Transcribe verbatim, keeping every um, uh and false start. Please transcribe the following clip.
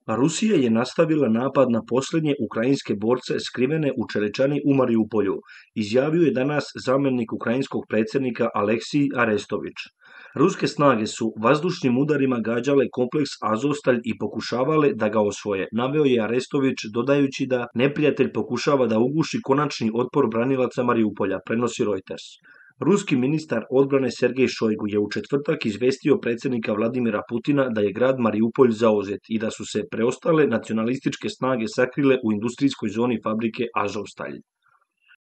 Rusija je nastavila napad na posljednje ukrajinske borce skrivene u Čerečani u Mariupolju, izjavio je danas zamjenik ukrajinskog predsjednika Aleksij Arestović. Ruske snage su vazdušnim udarima gađale kompleks Azovstalj i pokušavale da ga osvoje, naveo je Arestović dodajući da neprijatelj pokušava da uguši konačni otpor branilaca Mariupolja, prenosi Reuters. Ruski ministar odbrane Sergej Šojgu je u četvrtak izvestio predsjednika Vladimira Putina da je grad Mariupolj zauzet i da su se preostale nacionalističke snage sakrile u industrijskoj zoni fabrike Azovstalj.